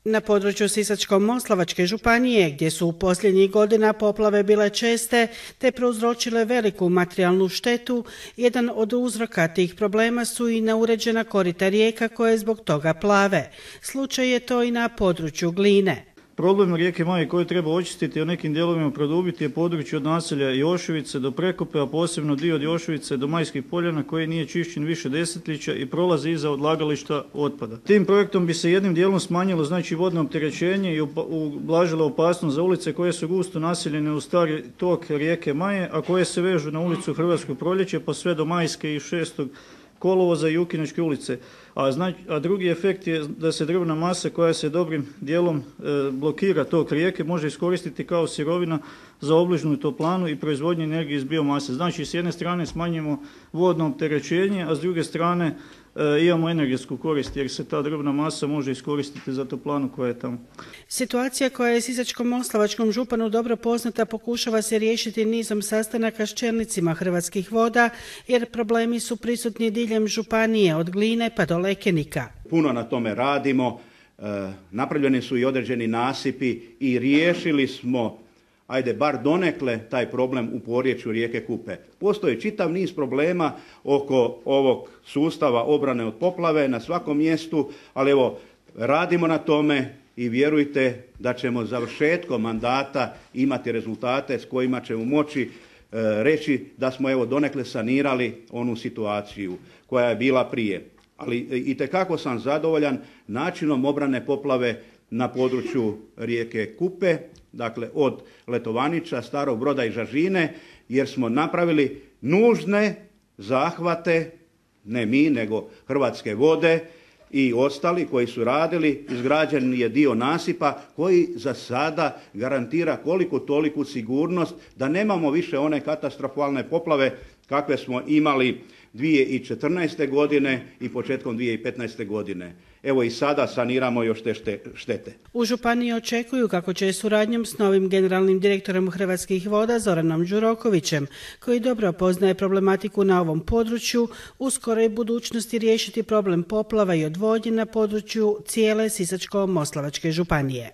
Na području Sisačko-moslavačke županije, gdje su u posljednjih godina poplave bile česte te prouzročile veliku materijalnu štetu, jedan od uzroka tih problema su i neuređena korita rijeka koje zbog toga plave. Slučaj je to i na području Gline. Problem rijeke Maje koju treba očistiti i u nekim dijelovima produbiti je područje od naselja Jošovice do Prekope, a posebno dio od Jošovice do Majskih poljana koji nije čišćen više desetljeća i prolazi iza odlagališta otpada. Tim projektom bi se jednim dijelom smanjilo vodno opterećenje i ublažila opasnost za ulice koje su gusto naseljene u stari tok rijeke Maje, a koje se vežu na ulicu Hrvatskog proljeća pa sve do Majske i 6. kolovoza i Jukinačke ulice. A drugi efekt je da se drvna masa koja se dobrim dijelom blokira tok rijeke može iskoristiti kao sirovina za obližnju toplanu i proizvodnju energije iz biomase. Znači, s jedne strane smanjimo vodno opterećenje, a s druge strane imamo energetsku korist jer se ta drvna masa može iskoristiti za toplanu koja je tamo. Situacija koja je Sisačko-moslavačkom županu dobro poznata pokušava se riješiti nizom sastanaka s čelnicima Hrvatskih voda jer problemi su prisutni diljem županije od Gline pa do Lekenika. Puno na tome radimo, napravljeni su i određeni nasipi i riješili smo bar donekle taj problem u porječju rijeke Kupe. Postoji čitav niz problema oko ovog sustava obrane od poplave na svakom mjestu, ali evo, radimo na tome i vjerujte da ćemo završetkom mandata imati rezultate s kojima ćemo moći reći da smo donekle sanirali onu situaciju koja je bila prije. Ali itekako sam zadovoljan načinom obrane poplave na području rijeke Kupe, dakle od Letovanića, Starog Broda i Žažine, jer smo napravili nužne zahvate, ne mi, nego Hrvatske vode i ostali koji su radili. Izgrađen je dio nasipa koji za sada garantira koliko toliku sigurnost da nemamo više one katastrofalne poplave kakve smo imali 2014. godine i početkom 2015. godine. Evo i sada saniramo još te štete. U županiji očekuju kako će suradnjom s novim generalnim direktorom Hrvatskih voda Zoranom Đurokovićem, koji dobro poznaje problematiku na ovom području, u skoroj budućnosti riješiti problem poplava i odvodnje na području cijele Sisačko-moslavačke županije.